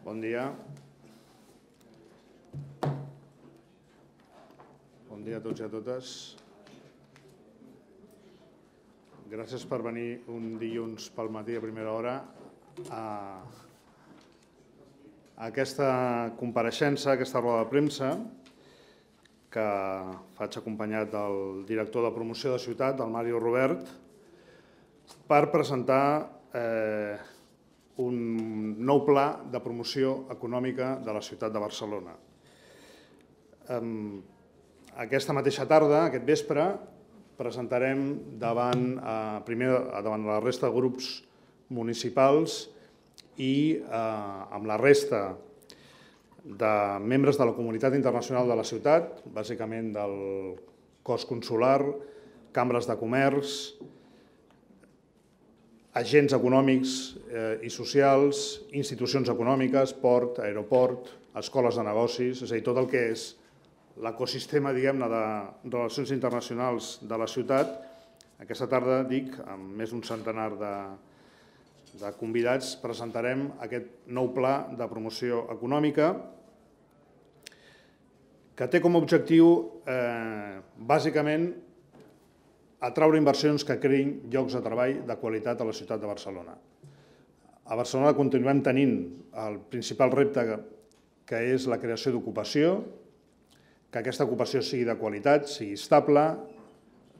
Bon dia. Bon dia a tots i a totes. Gràcies per venir un dilluns pel matí a primera hora a aquesta compareixença, a aquesta roda de premsa, que faig acompanyat del director de promoció de ciutat, del Mario Robert, per presentar un nou pla de promoció econòmica de la ciutat de Barcelona. Aquesta mateixa tarda, aquest vespre, presentarem primer davant la resta de grups municipals i amb la resta de membres de la comunitat internacional de la ciutat, bàsicament del cos consular, cambres de comerç, agents econòmics i socials, institucions econòmiques, port, aeroport, escoles de negocis, és a dir, tot el que és l'ecosistema, diguem-ne, de relacions internacionals de la ciutat. Aquesta tarda, dic, amb més d'un centenar de convidats, presentarem aquest nou pla de promoció econòmica que té com a objectiu, bàsicament, atraure inversions que creïn llocs de treball de qualitat a la ciutat de Barcelona. A Barcelona continuem tenint el principal repte, que és la creació d'ocupació, que aquesta ocupació sigui de qualitat, sigui estable,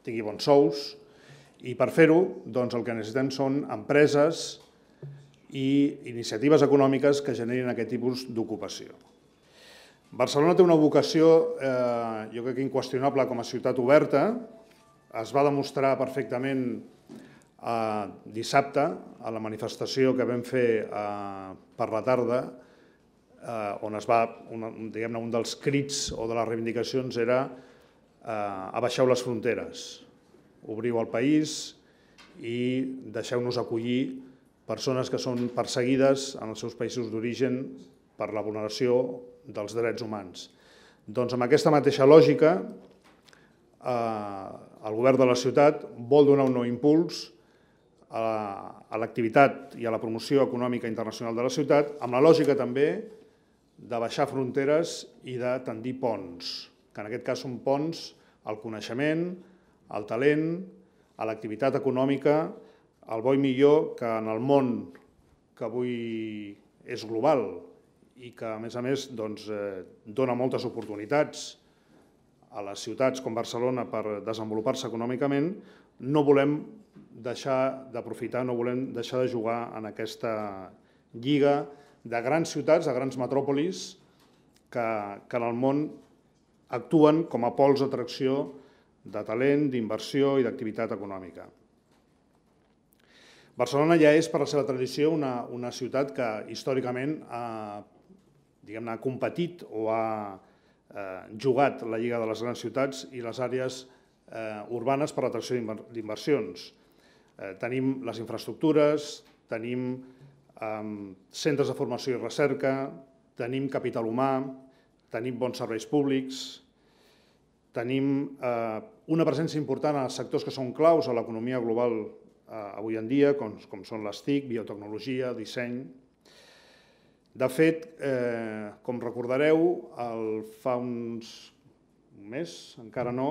tingui bons sous, i per fer-ho el que necessitem són empreses i iniciatives econòmiques que generin aquest tipus d'ocupació. Barcelona té una vocació, jo crec que inqüestionable, com a ciutat oberta. Es va demostrar perfectament dissabte a la manifestació que vam fer per la tarda, on un dels crits o de les reivindicacions era abaixeu les fronteres, obriu el país i deixeu-nos acollir persones que són perseguides en els seus països d'origen per la vulneració dels drets humans. Doncs amb aquesta mateixa lògica, el govern de la ciutat vol donar un nou impuls a l'activitat i a la promoció econòmica internacional de la ciutat, amb la lògica també de baixar fronteres i de tendir ponts, que en aquest cas són ponts al coneixement, al talent, a l'activitat econòmica, al bo i millor que en el món que avui és global i que, a més, dona moltes oportunitats a les ciutats com Barcelona per desenvolupar-se econòmicament, no volem deixar d'aprofitar, no volem deixar de jugar en aquesta lliga de grans ciutats, de grans metròpolis, que en el món actuen com a pols d'atracció de talent, d'inversió i d'activitat econòmica. Barcelona ja és, per la seva tradició, una ciutat que històricament ha competit o ha jugat la Lliga de les Grans Ciutats i les àrees urbanes per l'atracció d'inversions. Tenim les infraestructures, tenim centres de formació i recerca, tenim capital humà, tenim bons serveis públics, tenim una presència important en els sectors que són claus a l'economia global avui en dia, com són les TIC, biotecnologia, disseny. De fet, com recordareu, fa un mes, encara no,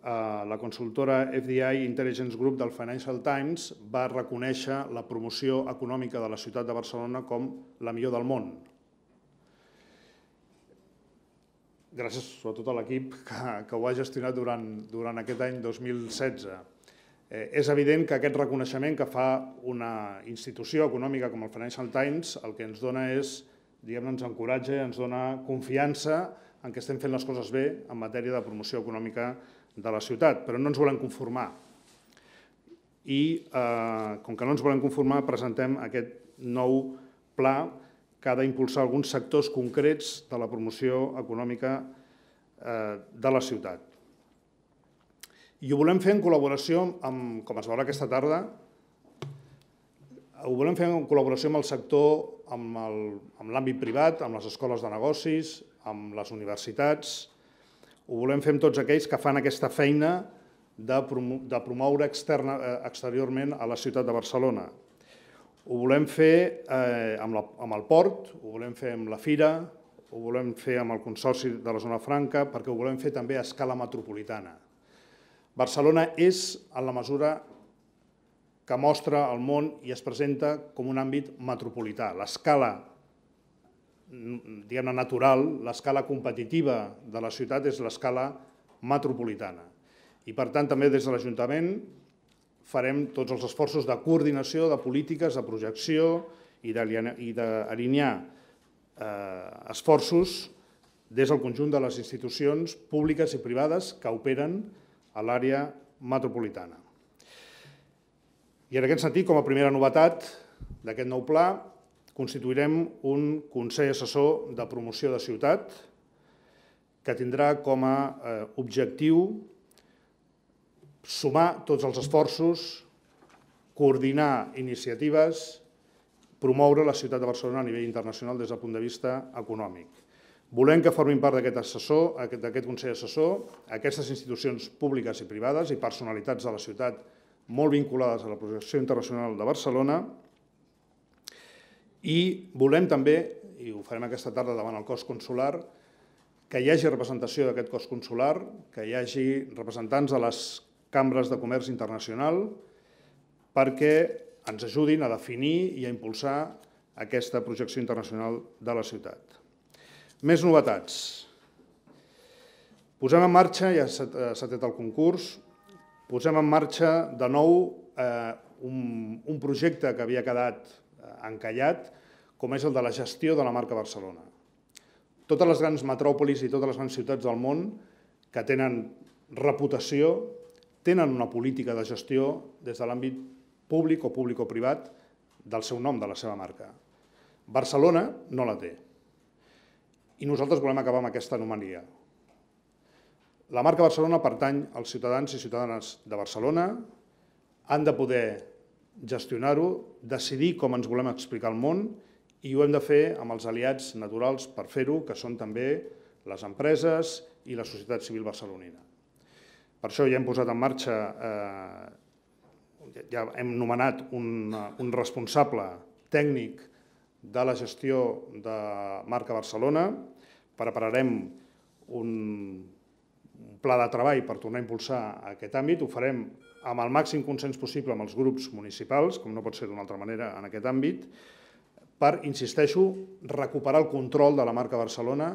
la consultora FDI Intelligence Group del Financial Times va reconèixer la promoció econòmica de la ciutat de Barcelona com la millor del món. Gràcies sobretot a l'equip que ho ha gestionat durant aquest any 2016. És evident que aquest reconeixement que fa una institució econòmica com el Financial Times el que ens dona és, ens encoratja, ens dona confiança en que estem fent les coses bé en matèria de promoció econòmica de la ciutat, però no ens volem conformar. I com que no ens volem conformar, presentem aquest nou pla que ha d'impulsar alguns sectors concrets de la promoció econòmica de la ciutat. I ho volem fer en col·laboració, com es veurà aquesta tarda, ho volem fer en col·laboració amb el sector, amb l'àmbit privat, amb les escoles de negocis, amb les universitats. Ho volem fer amb tots aquells que fan aquesta feina de promoure exteriorment a la ciutat de Barcelona. Ho volem fer amb el port, ho volem fer amb la Fira, ho volem fer amb el Consorci de la Zona Franca, perquè ho volem fer també a escala metropolitana. Barcelona és, en la mesura que mostra al món i es presenta com un àmbit metropolità. L'escala, diguem-ne, natural, l'escala competitiva de la ciutat és l'escala metropolitana. I, per tant, també des de l'Ajuntament farem tots els esforços de coordinació, de polítiques, de projecció i d'alinear esforços des del conjunt de les institucions públiques i privades que operen a l'àrea metropolitana. I en aquest sentit, com a primera novetat d'aquest nou pla, constituirem un Consell Assessor de Promoció de Ciutat que tindrà com a objectiu sumar tots els esforços, coordinar iniciatives, promoure la ciutat de Barcelona a nivell internacional des del punt de vista econòmic. Volem que formin part d'aquest Consell Assessor aquestes institucions públiques i privades i personalitats de la ciutat molt vinculades a la projecció internacional de Barcelona i volem també, i ho farem aquesta tarda davant el cos consular, que hi hagi representació d'aquest cos consular, que hi hagi representants de les cambres de comerç internacional perquè ens ajudin a definir i a impulsar aquesta projecció internacional de la ciutat. Més novetats. Posem en marxa, ja s'ha tret el concurs, posem en marxa de nou un projecte que havia quedat encallat, com és el de la gestió de la marca Barcelona. Totes les grans metròpolis i totes les grans ciutats del món que tenen reputació tenen una política de gestió des de l'àmbit públic o públic-privat del seu nom, de la seva marca. Barcelona no la té. I nosaltres volem acabar amb aquesta anomalia. La marca Barcelona pertany als ciutadans i ciutadanes de Barcelona, han de poder gestionar-ho, decidir com ens volem explicar al món i ho hem de fer amb els aliats naturals per fer-ho, que són també les empreses i la societat civil barcelonina. Per això ja hem posat en marxa, ja hem nomenat un responsable tècnic de la gestió de marca Barcelona, prepararem un pla de treball per tornar a impulsar aquest àmbit, ho farem amb el màxim consens possible amb els grups municipals, com no pot ser d'una altra manera en aquest àmbit, per, insisteixo, recuperar el control de la marca Barcelona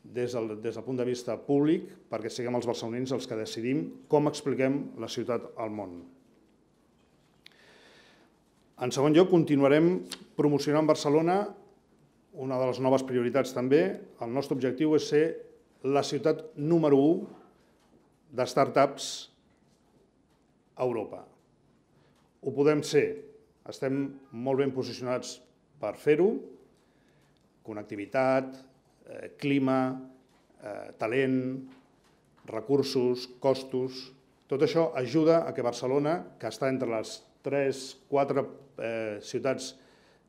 des del punt de vista públic, perquè siguem els barcelonins els que decidim com expliquem la ciutat al món. En segon lloc, continuarem promocionant Barcelona, una de les noves prioritats també. El nostre objectiu és ser la ciutat número 1 de start-ups a Europa. Ho podem ser, estem molt ben posicionats per fer-ho, connectivitat, clima, talent, recursos, costos. Tot això ajuda a que Barcelona, que està entre les 3-4 ciutats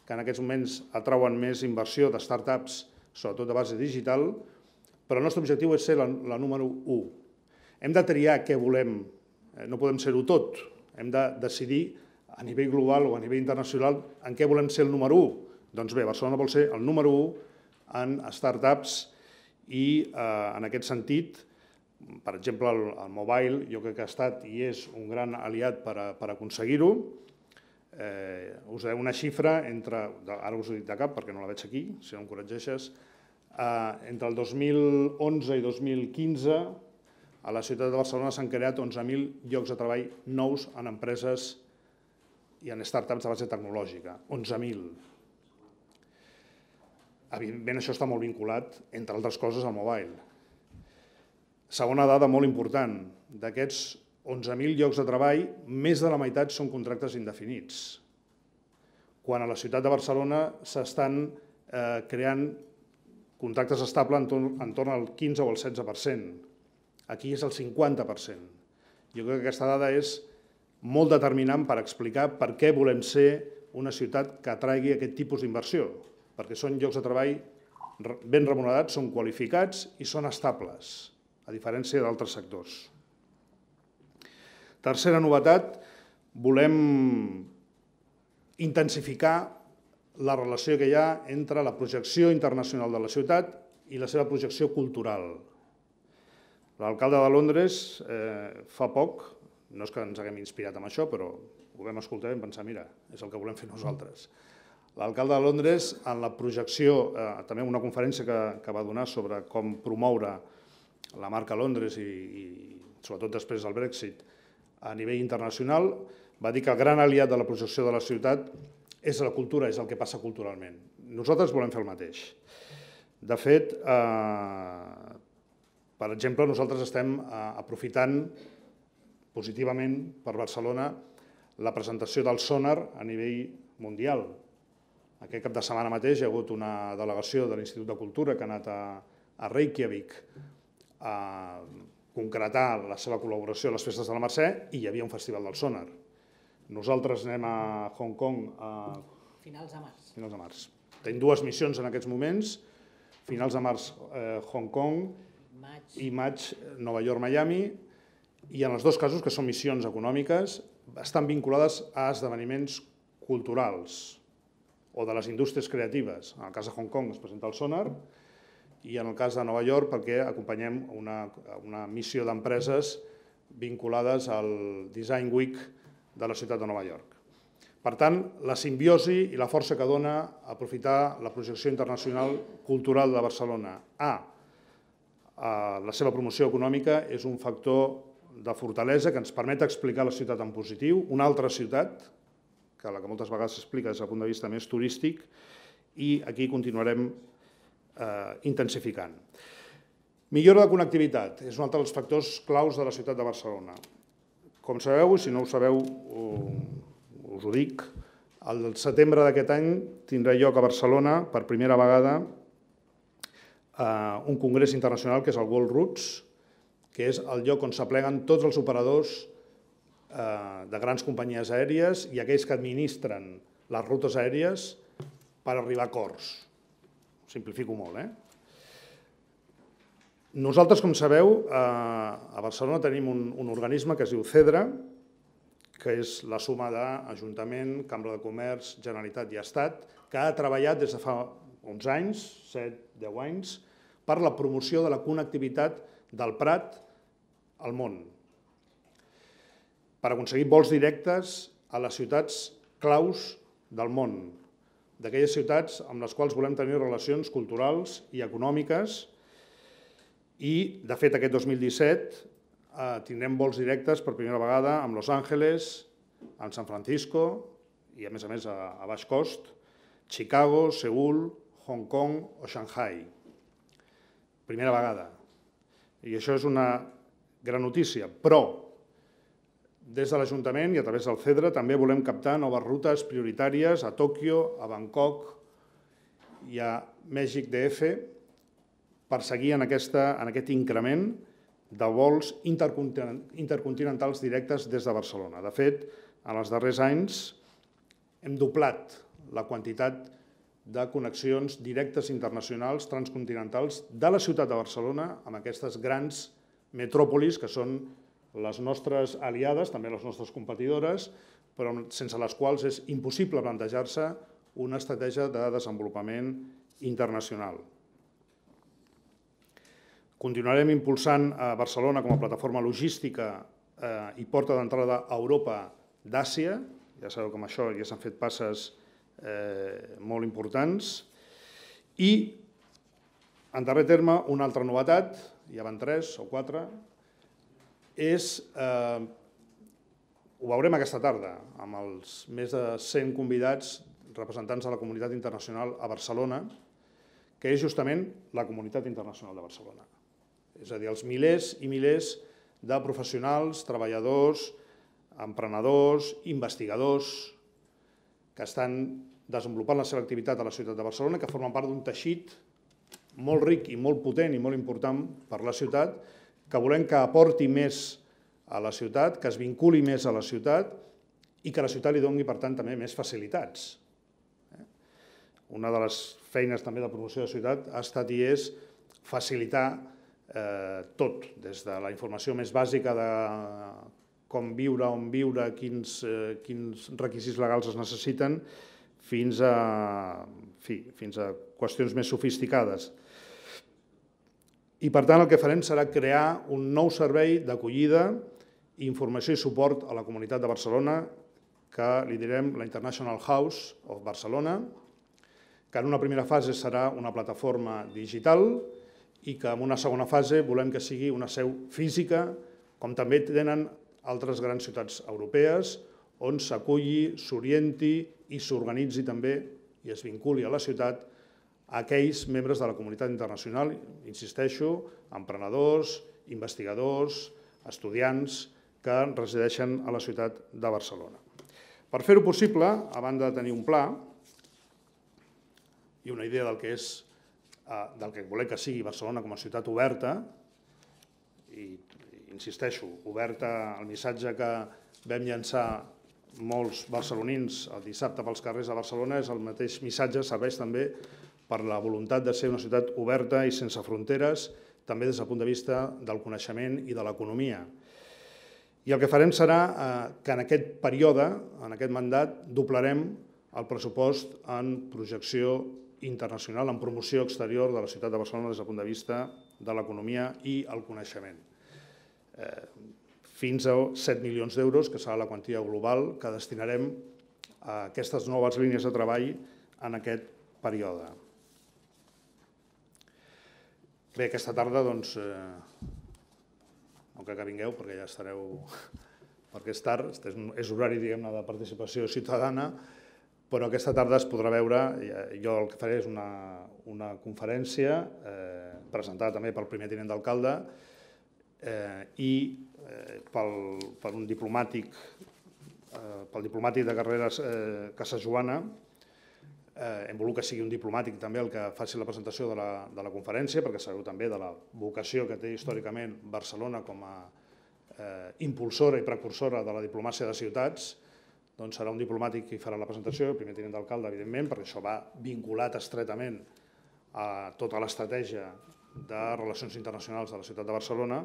que en aquests moments atrauen més inversió de start-ups, sobretot de base digital, però el nostre objectiu és ser la número 1. Hem de triar què volem, no podem ser-ho tot, hem de decidir a nivell global o a nivell internacional en què volem ser el número 1. Doncs bé, Barcelona vol ser el número 1 en start-ups i en aquest sentit, per exemple, el mobile jo crec que ha estat i és un gran aliat per aconseguir-ho. Us daré una xifra entre, ara us ho dic de cap perquè no la veig aquí, si no em corregeixes, entre el 2011 i 2015 a la ciutat de Barcelona s'han creat 11.000 llocs de treball nous en empreses i en start-ups de base tecnològica. 11.000. Evidentment, això està molt vinculat, entre altres coses, al mobile. Segona dada molt important, d'aquests 11.000 llocs de treball, més de la meitat són contractes indefinits, quan a la ciutat de Barcelona s'estan creant contractes estables entorn al 15 o al 16%. Aquí és el 50%. Jo crec que aquesta dada és molt determinant per explicar per què volem ser una ciutat que atraigui aquest tipus d'inversió, perquè són llocs de treball ben remunerats, són qualificats i són estables, a diferència d'altres sectors. Tercera novetat, volem intensificar la relació que hi ha entre la projecció internacional de la ciutat i la seva projecció cultural. L'alcalde de Londres fa poc, no és que ens haguem inspirat en això, però ho vam escoltar i vam pensar, mira, és el que volem fer nosaltres. L'alcalde de Londres, en la projecció, també en una conferència que va donar sobre com promoure la marca Londres i sobretot després del Brexit a nivell internacional, va dir que el gran aliat de la projecció de la ciutat és la cultura, és el que passa culturalment. Nosaltres volem fer el mateix. De fet, per exemple, nosaltres estem aprofitant positivament per Barcelona la presentació del Sonar a nivell mundial. Aquest cap de setmana mateix hi ha hagut una delegació de l'Institut de Cultura que ha anat a Reykjavik a concretar la seva col·laboració a les festes de la Mercè i hi havia un festival del Sonar. Nosaltres anem a Hong Kong a finals de març. Finals de març. Tenim dues missions en aquests moments, finals de març Hong Kong i maig Nova York, Miami, i en els dos casos, que són missions econòmiques, estan vinculades a esdeveniments culturals o de les indústries creatives. En el cas de Hong Kong es presenta el Sonar i en el cas de Nova York perquè acompanyem una missió d'empreses vinculades al Design Week de la ciutat de Nova York. Per tant, la simbiosi i la força que dona aprofitar la projecció internacional cultural de Barcelona a la seva promoció econòmica és un factor de fortalesa que ens permet explicar la ciutat en positiu, una altra ciutat, que la que moltes vegades s'explica des del punt de vista més turístic, i aquí continuarem intensificant. Millora de connectivitat és un altre dels factors claus de la ciutat de Barcelona. Com sabeu, i si no ho sabeu us ho dic, el setembre d'aquest any tindrà lloc a Barcelona per primera vegada un congrés internacional que és el World Routes, que és el lloc on s'apleguen tots els operadors de grans companyies aèries i aquells que administren les rutes aèries per arribar a acords. Simplifico molt, Nosaltres, com sabeu, a Barcelona tenim un organisme que es diu CEDRA, que és la suma d'Ajuntament, Cambra de Comerç, Generalitat i Estat, que ha treballat des de fa uns anys, 7-10 anys, per la promoció de la connectivitat del Prat al món, per aconseguir vols directes a les ciutats claus del món, d'aquelles ciutats amb les quals volem tenir relacions culturals i econòmiques i, de fet, aquest 2017 tindrem vols directes per primera vegada amb Los Angeles, amb San Francisco i, a més, a baix cost, Chicago, Seül, Hong Kong o Shanghai. Primera vegada. I això és una gran notícia, però des de l'Ajuntament i a través del CEDRA també volem captar noves rutes prioritàries a Tòquio, a Bangkok i a Mèxic DF per seguir en aquest increment de vols intercontinentals directes des de Barcelona. De fet, en els darrers anys hem doblat la quantitat de connexions directes internacionals transcontinentals de la ciutat de Barcelona amb aquestes grans metròpolis que són les nostres aliades, també les nostres competidores, però sense les quals és impossible plantejar-se una estratègia de desenvolupament internacional. Continuarem impulsant a Barcelona com a plataforma logística i porta d'entrada a Europa d'Àsia. Ja sabeu que amb això ja s'han fet passes molt importants. I, en darrer terme, una altra novetat, ja van 3 o 4, ho veurem aquesta tarda, amb els més de 100 convidats representants de la comunitat internacional a Barcelona, que és justament la comunitat internacional de Barcelona. És a dir, els milers i milers de professionals, treballadors, emprenedors, investigadors, que estan desenvolupant la seva activitat a la ciutat de Barcelona, que formen part d'un teixit molt ric i molt potent i molt important per la ciutat, que volem que aporti més a la ciutat, que es vinculi més a la ciutat i que la ciutat li doni, per tant, també més facilitats. Una de les feines també de promoció de la ciutat ha estat i és facilitar tot, des de la informació més bàsica de com viure, on viure, quins requisits legals es necessiten, fins a qüestions més sofisticades. I, per tant, el que farem serà crear un nou servei d'acollida, informació i suport a la comunitat de Barcelona, que li direm la International House of Barcelona, que en una primera fase serà una plataforma digital i que en una segona fase volem que sigui una seu física, com també tenen altres grans ciutats europees, on s'aculli, s'orienti i s'organitzi també i es vinculi a la ciutat a aquells membres de la comunitat internacional, insisteixo, emprenedors, investigadors, estudiants que resideixen a la ciutat de Barcelona. Per fer-ho possible, a banda de tenir un pla i una idea del que volem que sigui Barcelona com a ciutat oberta, i insisteixo, oberta al missatge que vam llançar molts barcelonins el dissabte pels carrers de Barcelona, és el mateix missatge, serveix també per la voluntat de ser una ciutat oberta i sense fronteres, també des del punt de vista del coneixement i de l'economia. I el que farem serà que en aquest període, en aquest mandat, doblarem el pressupost en projecció internacional, en promoció exterior de la ciutat de Barcelona des del punt de vista de l'economia i el coneixement. Fins a 7 milions d'euros, que serà la quantia global que destinarem a aquestes noves línies de treball en aquest període. Bé, aquesta tarda, doncs, no crec que vingueu perquè ja estareu, perquè és tard, és horari, diguem-ne, de participació ciutadana, però aquesta tarda es podrà veure, jo el que faré és una conferència presentada també pel primer tinent d'alcalde i per un diplomàtic, pel diplomàtic de carreres Casa Joana. Hem volgut que sigui un diplomàtic també el que faci la presentació de la conferència, perquè sabeu també de la vocació que té històricament Barcelona com a impulsora i precursora de la diplomàcia de ciutats. Doncs serà un diplomàtic qui farà la presentació, el primer tinent d'alcalde, evidentment, perquè això va vinculat estretament a tota l'estratègia de relacions internacionals de la ciutat de Barcelona,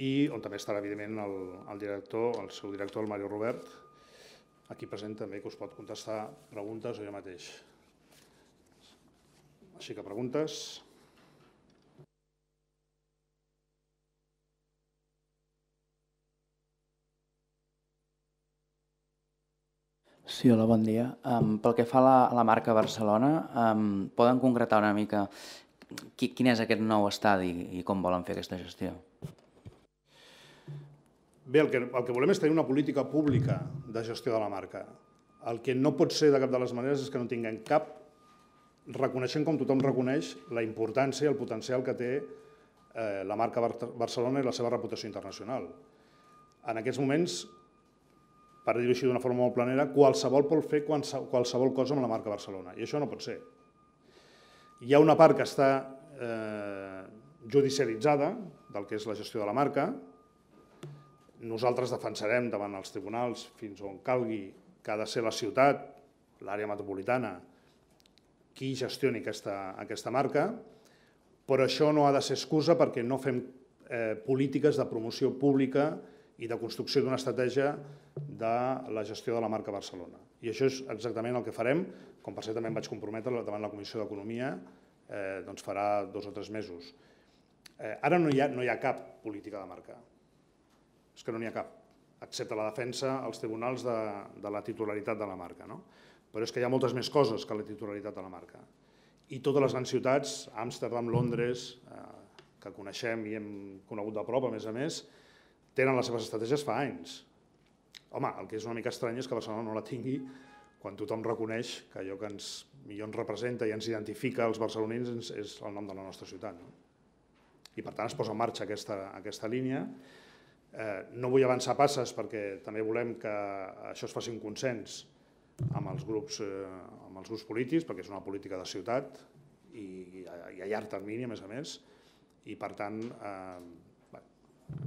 i on també estarà, evidentment, el seu director, el Mario Robert, aquí present també, que us pot contestar preguntes o jo mateix. Així que preguntes. Sí, hola, bon dia. Pel que fa a la marca Barcelona, poden concretar una mica quin és aquest nou estadi i com volen fer aquesta gestió? Bé, el que volem és tenir una política pública de gestió de la marca. El que no pot ser de cap de les maneres és que no tinguem cap, reconeixent com tothom reconeix la importància i el potencial que té la marca Barcelona i la seva reputació internacional. En aquests moments, per dir-ho així d'una forma molt planera, qualsevol pot fer qualsevol cosa amb la marca Barcelona, i això no pot ser. Hi ha una part que està judicialitzada del que és la gestió de la marca. Nosaltres defensarem davant els tribunals fins on calgui que ha de ser la ciutat, l'àrea metropolitana, qui gestioni aquesta marca, però això no ha de ser excusa perquè no fem polítiques de promoció pública i de construcció d'una estratègia de la gestió de la marca Barcelona. I això és exactament el que farem, com per cert també em vaig comprometre davant la Comissió d'Economia, doncs farà 2 o 3 mesos. Ara no hi ha cap política de marca, és que no n'hi ha cap, excepte la defensa als tribunals de la titularitat de la marca. Però és que hi ha moltes més coses que la titularitat de la marca. I totes les grans ciutats, Amsterdam, Londres, que coneixem i hem conegut de prop, a més, tenen les seves estratègies fa anys. Home, el que és una mica estrany és que Barcelona no la tingui quan tothom reconeix que allò que millor ens representa i ens identifica als barcelonins és el nom de la nostra ciutat. I per tant es posa en marxa aquesta línia. No vull avançar passes perquè també volem que això es faci un consens amb els grups polítics, perquè és una política de ciutat i a llarg termini, a més, i per tant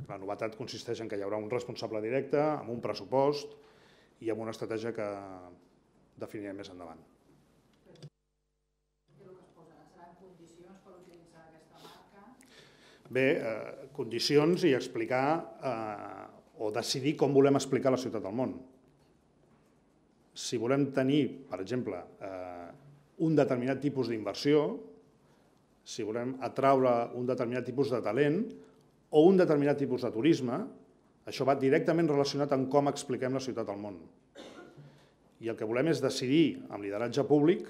la novetat consisteix en que hi haurà un responsable directe, amb un pressupost i amb una estratègia que definirem més endavant. Seran condicions per utilitzar aquesta marca? Bé, condicions i explicar o decidir com volem explicar la ciutat al món. Si volem tenir, per exemple, un determinat tipus d'inversió, si volem atraure un determinat tipus de talent o un determinat tipus de turisme, això va directament relacionat amb com expliquem la ciutat al món. I el que volem és decidir, amb lideratge públic,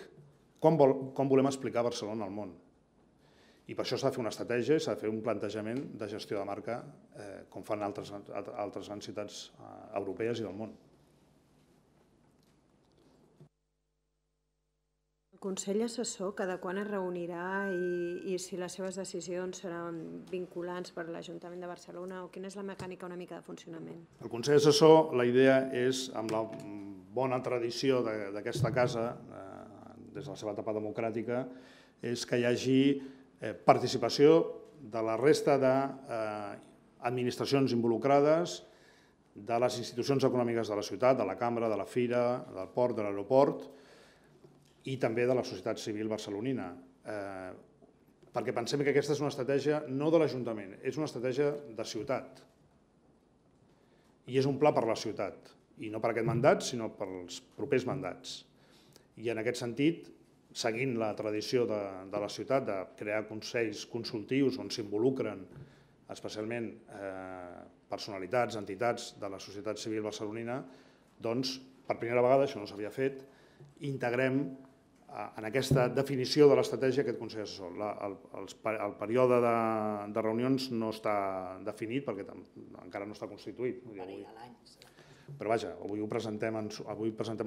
com volem explicar Barcelona al món. I per això s'ha de fer una estratègia i s'ha de fer un plantejament de gestió de marca com fan altres grans ciutats europees i del món. El Consell Assessor cada quan es reunirà i si les seves decisions seran vinculants per l'Ajuntament de Barcelona o quina és la mecànica una mica de funcionament? El Consell Assessor, la idea és, amb la bona tradició d'aquesta casa, des de la seva etapa democràtica, és que hi hagi participació de la resta d'administracions involucrades, de les institucions econòmiques de la ciutat, de la Cambra, de la Fira, del Port, de l'Aeroport, i també de la societat civil barcelonina. Perquè pensem que aquesta és una estratègia no de l'Ajuntament, és una estratègia de ciutat. I és un pla per la ciutat, i no per aquest mandat, sinó pels propers mandats. I en aquest sentit, seguint la tradició de la ciutat de crear consells consultius on s'involucren especialment personalitats, entitats de la societat civil barcelonina, doncs, per primera vegada, això no s'havia fet, integrem en aquesta definició de l'estratègia aquest Consell Assessor. El període de reunions no està definit perquè encara no està constituït. Però vaja, avui presentem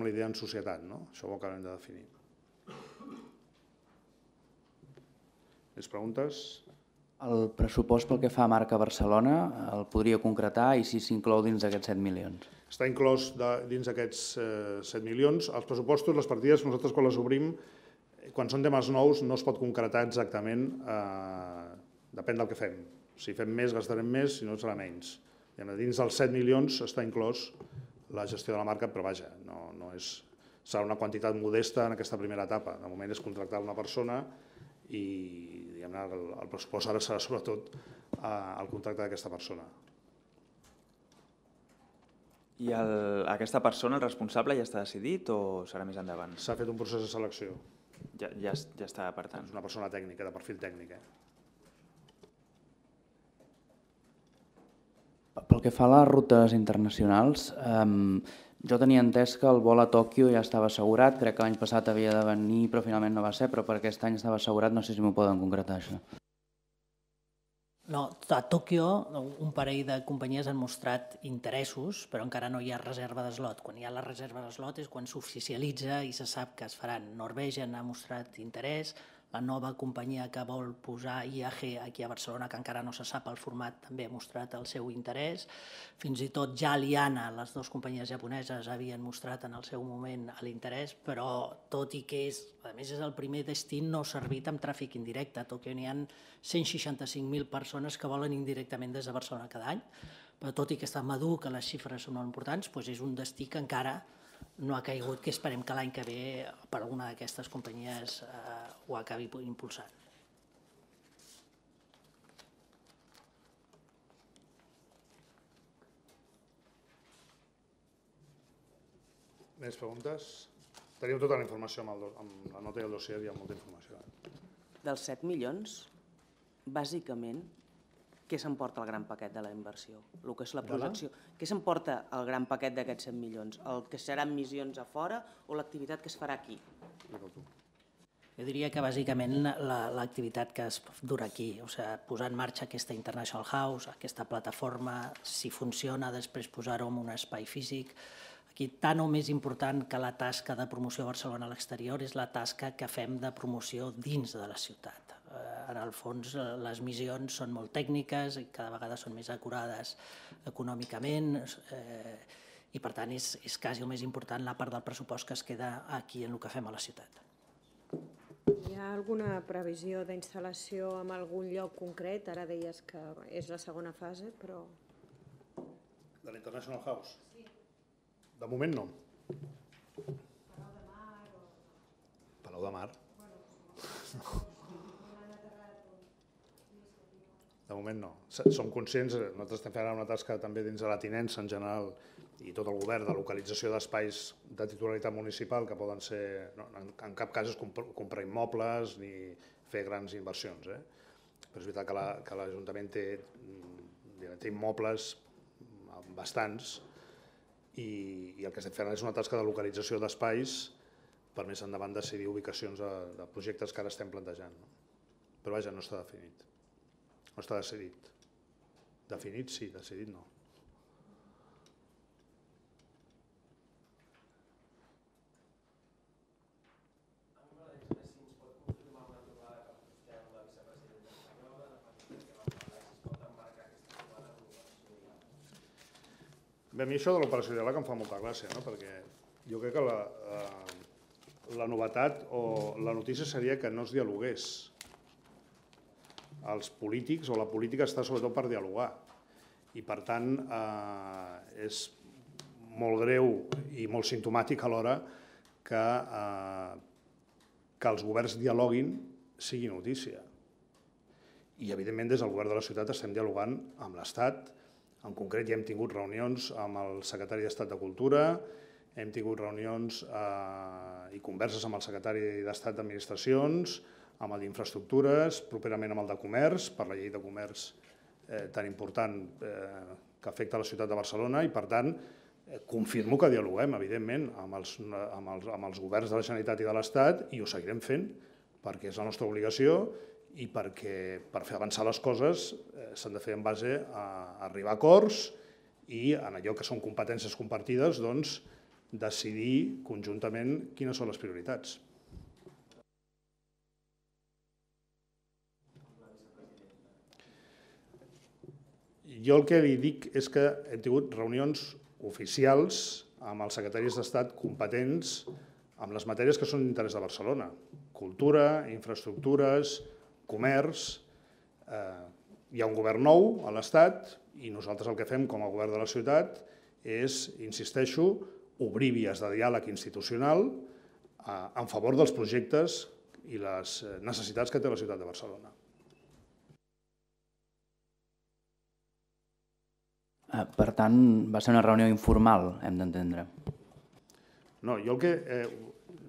la idea en societat, això ho acabem de definir. Més preguntes? El pressupost pel que fa a marca Barcelona el podria concretar i si s'inclou dins d'aquests 7 milions? Està inclòs dins d'aquests 7 milions. Els pressupostos, les partides, nosaltres quan les obrim, quan són temes nous no es pot concretar exactament, depèn del que fem. Si fem més gastarem més, si no serà menys. Dins dels 7 milions està inclòs la gestió de la marca, però vaja, serà una quantitat modesta en aquesta primera etapa. De moment és contractar una persona i el pressupost ara serà sobretot el contracte d'aquesta persona. I aquesta persona, el responsable, ja està decidit o serà més endavant? S'ha fet un procés de selecció. Ja està, per tant. És una persona tècnica, de perfil tècnic. Pel que fa a les rutes internacionals, jo tenia entès que el vol a Tòquio ja estava assegurat, crec que l'any passat havia de venir, però finalment no va ser, però per aquest any estava assegurat, no sé si m'ho poden concretar, això. No, a Tòquio un parell de companyies han mostrat interessos, però encara no hi ha reserva d'eslot. Quan hi ha la reserva d'eslot és quan s'oficialitza i se sap que es faran. Norwegian ha mostrat interès, la nova companyia que vol posar IAG aquí a Barcelona, que encara no se sap el format, també ha mostrat el seu interès. Fins i tot ja Liana, les dues companyies japoneses, havien mostrat en el seu moment l'interès, però tot i que a més és el primer destí no servit amb tràfic indirecte. A Tòquio n'hi ha 165.000 persones que volen indirectament des de Barcelona cada any, però tot i que està madur, que les xifres són molt importants, és un destí que encara no ha caigut, que esperem que l'any que ve per alguna d'aquestes companyies ho acabi impulsant. Més preguntes? Teniu tota la informació amb la nota i el dossier, hi ha molta informació. Dels 7 milions, bàsicament, què s'emporta el gran paquet de la inversió? El que és la projecció. Què s'emporta el gran paquet d'aquests 7 milions? El que seran missions a fora o l'activitat que es farà aquí? Jo diria que bàsicament l'activitat que es durà aquí, posar en marxa aquesta International House, aquesta plataforma, si funciona, després posar-ho en un espai físic. Aquí, tant o més important que la tasca de promoció a Barcelona a l'exterior és la tasca que fem de promoció dins de la ciutat. En el fons, les missions són molt tècniques i cada vegada són més acurades econòmicament i, per tant, és quasi el més important la part del pressupost que es queda aquí en el que fem a la ciutat. Hi ha alguna previsió d'instal·lació en algun lloc concret? Ara deies que és la segona fase, però... De l'International House? Sí. De moment no. Palau de Mar o... Palau de Mar? De moment no. Som conscients, nosaltres estem fent una tasca també dins de la tinença en general i tot el govern de localització d'espais de titularitat municipal que poden ser, en cap cas és comprar immobles ni fer grans inversions. Però és veritat que l'Ajuntament té immobles bastants i el que estem fent és una tasca de localització d'espais per més endavant decidir ubicacions de projectes que ara estem plantejant. Però vaja, no està definit. No està decidit. Definit sí, decidit no. Bé, a mi això de l'operació diàleg em fa molta gràcia, perquè jo crec que la novetat o la notícia seria que no es dialogués. Els polítics o la política està sobretot per dialogar i per tant és molt greu i molt simptomàtic alhora que els governs dialoguin sigui notícia. I evidentment des del govern de la ciutat estem dialogant amb l'Estat. En concret ja hem tingut reunions amb el secretari d'Estat de Cultura, hem tingut reunions i converses amb el secretari d'Estat d'Administracions, amb el d'Infraestructures, properament amb el de Comerç, per la llei de comerç tan important que afecta la ciutat de Barcelona i, per tant, confirmo que dialoguem, evidentment, amb els governs de la Generalitat i de l'Estat i ho seguirem fent perquè és la nostra obligació i perquè per fer avançar les coses s'han de fer en base a arribar a acords i en allò que són competències compartides, doncs, decidir conjuntament quines són les prioritats. Jo el que li dic és que hem tingut reunions oficials amb els secretaris d'Estat competents amb les matèries que són d'interès de Barcelona. Cultura, infraestructures, comerç. Hi ha un govern nou a l'Estat i nosaltres el que fem com a govern de la ciutat és, insisteixo, obrir vies de diàleg institucional en favor dels projectes i les necessitats que té la ciutat de Barcelona. Per tant, va ser una reunió informal, hem d'entendre. No, jo el que...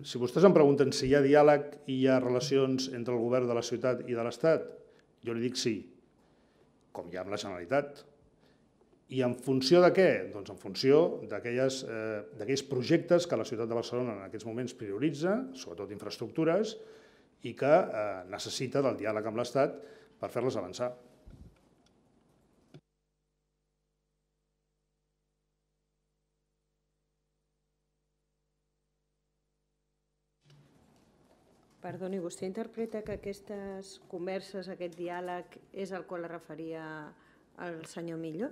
Si vostès em pregunten si hi ha diàleg i hi ha relacions entre el govern de la ciutat i de l'Estat, jo li dic sí, com hi ha amb la Generalitat. I en funció de què? Doncs en funció d'aquells projectes que la ciutat de Barcelona en aquests moments prioritza, sobretot infraestructures, i que necessita del diàleg amb l'Estat per fer-les avançar. Perdoni, vostè interpreta que aquestes converses, aquest diàleg, és al qual es referia el senyor Millo?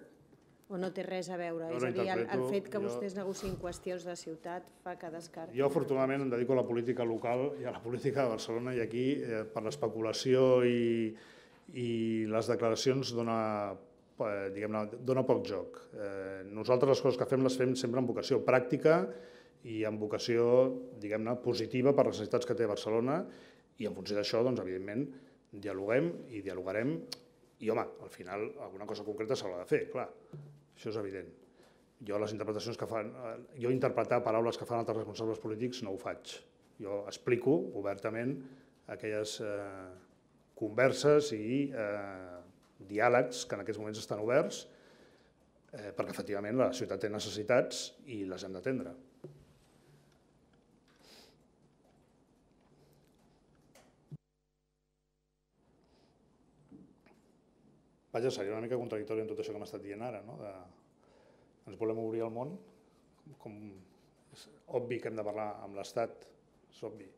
O no té res a veure? És a dir, el fet que vostès negociïn qüestions de ciutat fa que descarti? Jo, afortunadament, em dedico a la política local i a la política de Barcelona i aquí, per l'especulació i les declaracions, dona poc joc. Nosaltres les coses que fem les fem sempre amb vocació pràctica i amb vocació, diguem-ne, positiva per les necessitats que té Barcelona i en funció d'això, doncs, evidentment, dialoguem i dialogarem i, home, al final, alguna cosa concreta s'haurà de fer, clar, això és evident. Jo les interpretacions que fan, jo interpretar paraules que fan altres responsables polítics no ho faig. Jo explico obertament aquelles converses i diàlegs que en aquests moments estan oberts perquè, efectivament, la ciutat té necessitats i les hem d'atendre. Vaja, seria una mica contradictori en tot això que m'ha estat dient ara, no? Ens volem obrir al món, és obvi que hem de parlar amb l'Estat, és obvi.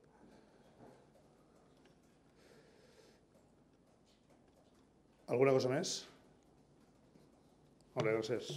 Alguna cosa més? Molt bé, gràcies.